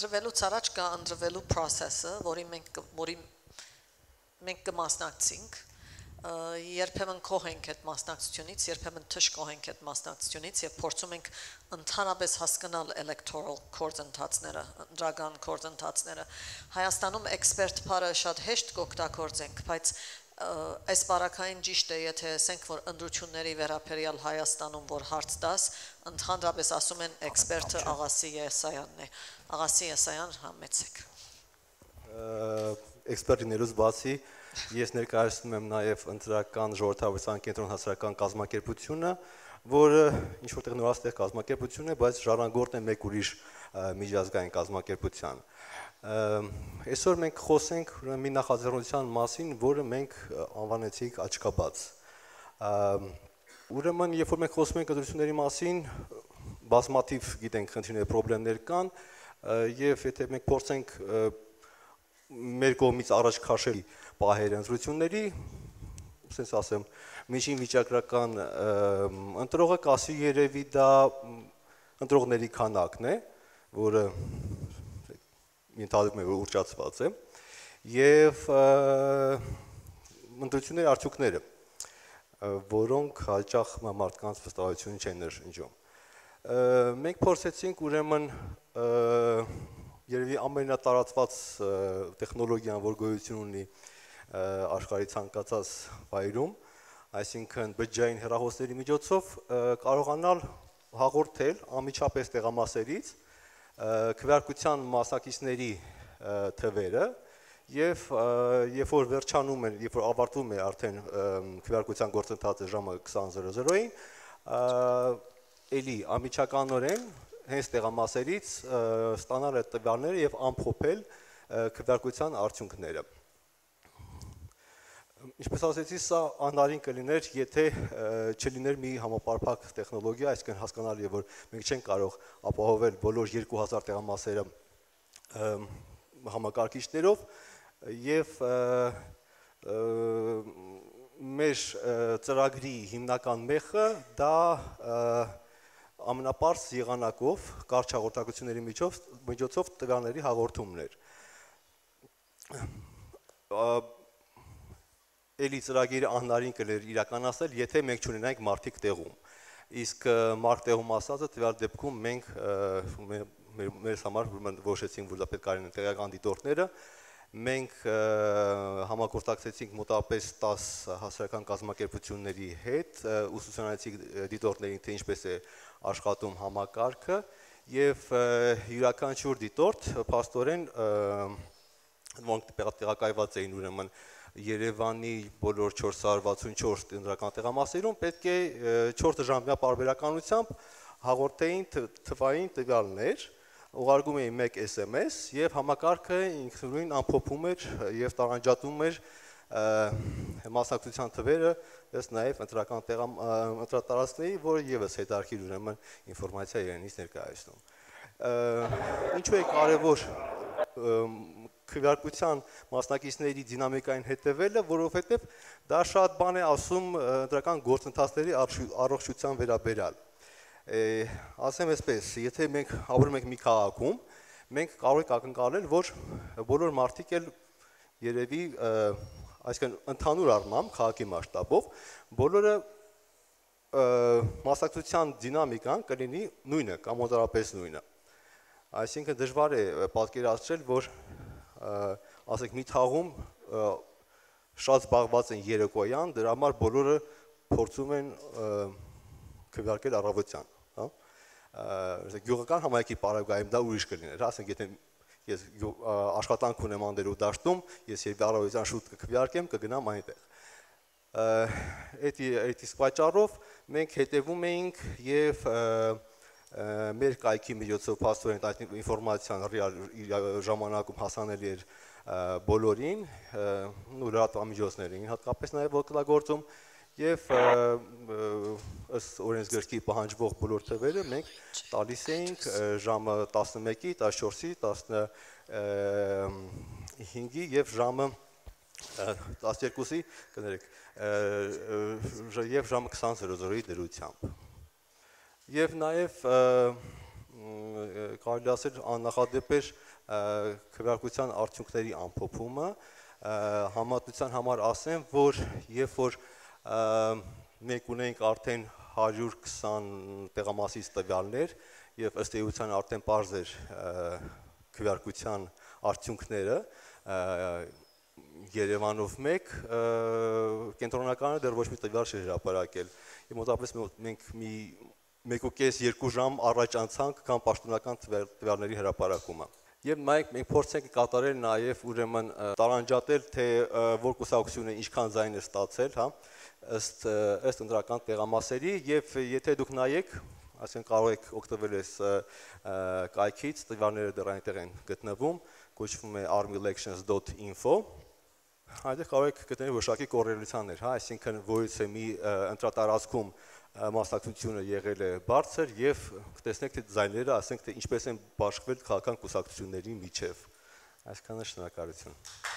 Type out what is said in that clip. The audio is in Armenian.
Ընտրվելուց առաջ կա ընտրվելու process-ը, որի մենք կմասնակցենք, երբեմն կողենք այդ մասնակցությունից, երբեմն թշկողենք այդ մասնակցությունից եւ փորձում ենք ընդհանրապես հասկանալ electoral կորձընթացները, ընդրական կորձընթացները։ Հայաստանում էքսպերտ բարը շատ հեշտ կօգտագործենք, բայց այս բարակային ճիշտ է, եթե ասենք, որ ընտրությունների վերաբերյալ Հայաստանում որ հարց տաս, ընդհանրապես ասում են էքսպերտը Աղասի Եսայանն է։ Աղասի Եսայան, համեցեք։ Էքսպերտիներուց բացի ես ներկայացնում եմ նաև ընտրական ժողովրդավարության կենտրոն հասարակական կազմակերպությունը, որը ինչ որտեղ նորաստեղծ կազմակերպություն է, բայց ժառանգորդ է մեկ ուրիշ միջազգային կազմակերպության։ Այսօր մենք խոսենք մի նախաձեռնության մասին, որը մենք անվանեցինք աչքաբաց։ Ուրեմն, երբ որ մենք խոսում ենք ընտրությունների մասին, բազմաթիվ գիտենք խնդիրներ, խնդիրներ կան, եւ եթե մենք փորձենք մեր կողմից առաջ քաշել պահերը ընտրությունների, ասես ասեմ, միջին վիճակրական ընտրողը կասի երևի դա ընտրողների քանակն է, որը ենթադրվում է, որ ուռճացված է, եւ ընտրությունների արդյունքները, որոնք հաճախ մարդկանց վստահություն չեն ներշնչում։ Մենք փորձեցինք ուրեմն երևի ամենատարածված տեխնոլոգիան, որ գոյություն ունի աշխարհի ցանկացած վայրում, այսինքն բջջային հեռախոսների միջոցով կարողանալ հաղորդել անմիջապես տեղամասերից քվեարկության մասնակիցների թվերը եւ երբ որ վերջանում է, երբ որ ավարտվում է արդեն քվեարկության գործընթացը ժամը 20:00-ին, էլի անմիջականորեն հենց տեղամասերից ստանալ այդ տվյալները եւ ամփոփել քվեարկության արդյունքները։ Ինչպես ասեցի, սա անհնարին կլիներ, եթե չլիներ մի համապարփակ տեխնոլոգիա, այսինքն հասկանալի է, որ մենք չենք կարող ապահովել բոլոր 2000 տեղամասերը համակարգիչներով եւ մեր ծրագրի հիմնական մեխը դա ամենապարզ եղանակով կարճ հաղորդակցությունների միջոցով տվյալների հաղորդումն էր։ Էլի ծրագիրը անհնարին կլիներ իրականացնել, եթե մենք չունենայինք մարդիկ տեղում։ Իսկ մարդ տեղում ասածը տվյալ դեպքում մենք մեզ համար որոշեցինք, որ դա պետք է լինեն տեղական դիտորդները, մենք համագործակցեցինք մոտավորապես 10 հասարակական կազմակերպությունների հետ, ուսուցանեցինք դիտորդներին, թե ինչպես է աշխատում համակարգը, եւ յուրաքանչյուր դիտորդ փաստորեն որոնք տեղակայված էին ուրեմն Երևանի բոլոր 464 ընտրական տեղամասերում պետք է 4 ժամյա պարբերականությամբ հաղորդեին թվային տվյալներ, ուղարկում էին 1 SMS եւ համակարգը ինքնուրույն ամփոփում էր եւ տարանջատում էր մասնակցության թվերը, ըստ նաեւ ընտրական ընտրատարածքների, որը եւս հետարքիր ուրեմն ինֆորմացիա իրենից ներկայացնում։ Ինչու է կարեւոր քվեարկության մասնակիցների դինամիկային հետևելը, որովհետև դա շատ բան է ասում ընտրական գործընթացների առողջության վերաբերյալ։ Ասեմ այսպես, եթե մենք ապրում ենք մի քաղաքում, մենք կարող ենք ակնկալել, որ բոլոր մարդիկ էլ երևի, այսինքն ընդհանուր առմամբ քաղաքի մասշտաբով, բոլորը մասնակցության դինամիկան կլինի նույնը կամ մոտավորապես նույնը։ Այսինքն դժվար է պատկերացնել, որ ասենք մի թաղում շատ զբաղված են երեկոյան, դրա համար բոլորը փորձում են քվեարկել առավոտյան, հա։ Գյուղական համայնքի պարագայում դա ուրիշ կլիներ, ասենք եթե ես աշխատանք ունեմ անդերու դաշտում, ես երբ առավոտյան շուտ կքվեարկեմ, կգնամ այնտեղ։ Այդ իսկ պատճառով մենք հետևում էինք եւ մեր կայքի միջոցով փաստորեն այդ ինֆորմացիան ժամանակում հասանելի էր բոլորին, լրատվամիջոցներին հատկապես նաև օգտագործում եւ ըստ օրենսգրքի պահանջվող բոլոր թվերը մենք տալիս էինք ժամը 11-ի, 14-ի, 15-ի եւ ժամը 12-ի, կներեք, եւ ժամը 20:00-ի դրությամբ։ Եվ նաև կարելի ասել աննախադեպ էր քվեարկության արդյունքների ամփոփումը, համատության համար ասեմ, որ երբ որ մենք ունենք արդեն 120 տեղամասից տվյալներ եւ ըստ էության արդեն պարզ էր քվեարկության արդյունքները Երևանով մեկ կենտրոնականը դեռ ոչ մի տվյալ չէր հրապարակել։ Եվ մոտավորապես մենք մի 1.5-2 ժամ առաջ անցանք կամ պաշտոնական տվյալների հրապարակումը։ Եվ մենք փորձենք կատարել նաև ուրեմն տարանջատել, թե որ կուսակցությունը ինչքան ձայն է ստացել, հա, ըստ ընտրական տեղամասերի, եւ եթե դուք նայեք, ասենք կարող եք օգտվել այս կայքից, տվյալները դեռ այնտեղ են գտնվում, կոչվում է armeyelections.info, այնտեղ կարող եք գտնել որոշակի կոռելացիաներ, հա, այսինքն որից է մի ընտրատարածքում մասնակցությունը եղել է բարձր եւ կտեսնեք թե ձայները, ասենք թե ինչպես են բաշխվել քաղաքական կուսակցությունների միջև։ Այսքանը, շնորհակալություն։